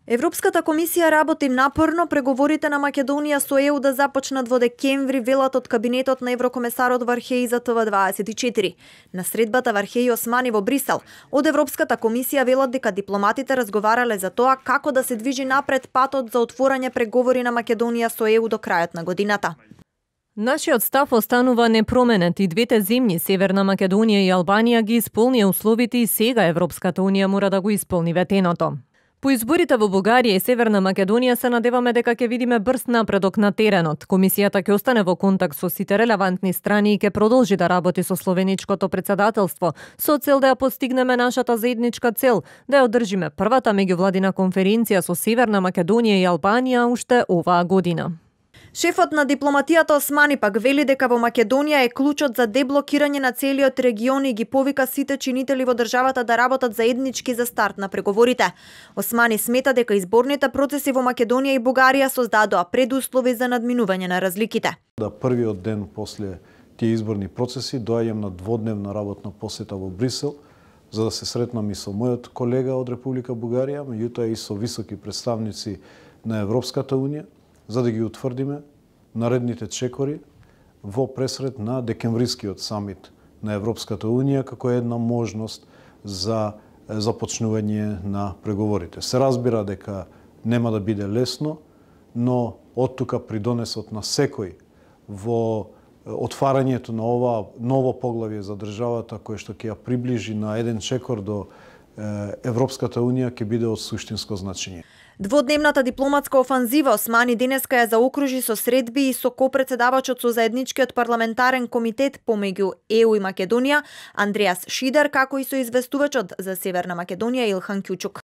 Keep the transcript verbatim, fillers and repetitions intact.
Европската комисија работи напорно преговорите на Македонија со Е У да започнат во декември, велат од кабинетот на еврокомесарот Вархеи за Т В дваесет и четири. На средбата Вархеи Османи во Брисел, од Европската комисија велат дека дипломатите разговарале за тоа како да се движи напред патот за отворање преговори на Македонија со Е У до крајот на годината. Нашиот став останува непроменет и двете земји, Северна Македонија и Албанија, ги исполнија условите и сега Европската Унија мора да го исполни ветеното. По изборите во Бугарија и Северна Македонија се надеваме дека ќе видиме брз напредок на теренот. Комисијата ќе остане во контакт со сите релевантни страни и ќе продолжи да работи со словеничкото председателство со цел да ја постигнеме нашата заедничка цел, да ја одржиме првата меѓувладина конференција со Северна Македонија и Албанија уште оваа година. Шефот на дипломатијата Османи пак вели дека во Македонија е клучот за деблокирање на целиот регион и ги повика сите чинители во државата да работат заеднички за старт на преговорите. Османи смета дека изборните процеси во Македонија и Бугарија создадоа предуслови за надминување на разликите. Да првиот ден после тие изборни процеси доаѓам на дводневна работна посета во Брисел за да се сретнам и со мојот колега од Република Бугарија, меѓутоа и со високи представници на Европската Унија, за да ги утврдиме наредните чекори во пресред на декемврискиот самит на Европската Унија како една можност за започнување на преговорите. Се разбира дека нема да биде лесно, но оттука придонесот на секој во отварањето на ова ново поглавје за државата кое што ќе ја приближи на еден чекор до Европската Унија ќе биде од суштинско значење. Дводневната дипломатска офанзива Османи денеска ја заокружи со средби и со копредседавачот со заедничкиот парламентарен комитет помеѓу Е У и Македонија Андреас Шидар, како и со известувачот за Северна Македонија Илхан Кјучук.